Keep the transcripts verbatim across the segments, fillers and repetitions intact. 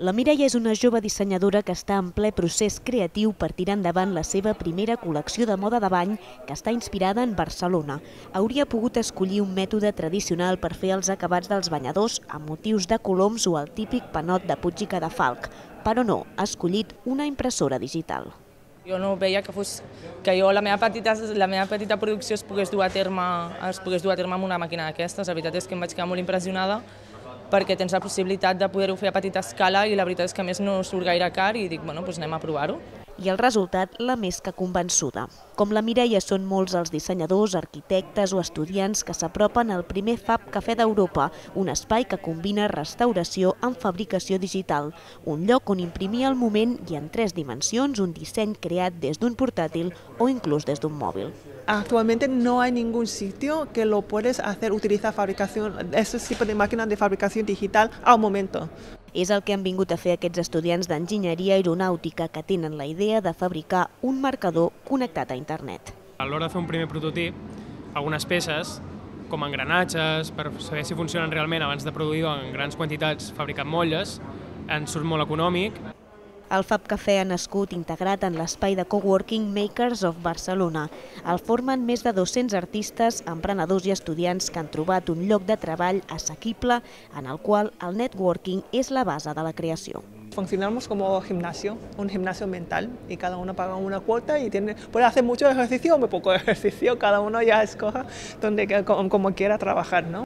La Mireia és una jove dissenyadora que està en ple procés creatiu per tirar endavant la seva primera col·lecció de moda de bany que està inspirada en Barcelona. Hauria pogut escollir un mètode tradicional per fer els acabats dels banyadors amb motius de coloms o el típic panot de Puig i Cadafalch, però no, ha escollit una impressora digital. Jo no veia que fos que jo la meva petita la meva petita producció es pogués dur a terme es pogués dur a terme amb una màquina d'aquestes. La veritat és que em vaig quedar molt impressionada perquè tens la possibilitat de poder-ho fer a petita escala i la veritat és que a més no surt gaire car i dic, bueno, doncs anem a provar-ho. I el resultat l'ha més que convençuda. Com la Mireia, són molts els dissenyadors, arquitectes o estudiants que s'apropen al primer Fab Cafè d'Europa, un espai que combina restauració amb fabricació digital, un lloc on imprimir al moment i en tres dimensions un disseny creat des d'un portàtil o inclús des d'un mòbil. Actualmente no hay ningún sitio que lo puedes hacer, utilizar fabricación, ese tipo de máquinas de fabricación digital al momento. És el que han vingut a fer aquests estudiants d'enginyeria aeronàutica que tenen la idea de fabricar un marcador connectat a internet. A l'hora de fer un primer prototip, algunes peces, com engranatges, per saber si funcionen realment abans de produir en grans quantitats fabricant molles, ens surt molt econòmic. El Fab Cafè ha nascut integrat en l'espai de coworking Makers of Barcelona. El formen més de dos-cents artistes, emprenedors i estudiants que han trobat un lloc de treball assequible en el qual el networking és la base de la creació. Funcionamos como gimnasio, un gimnasio mental, y cada uno paga una cuota y tiene, puede hacer mucho ejercicio o muy poco ejercicio, cada uno ya escoja donde, como quiera trabajar, ¿no?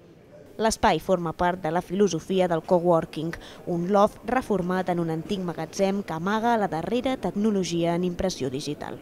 L'espai forma part de la filosofia del coworking, un loft reformat en un antic magatzem que amaga la darrera tecnologia en impressió digital.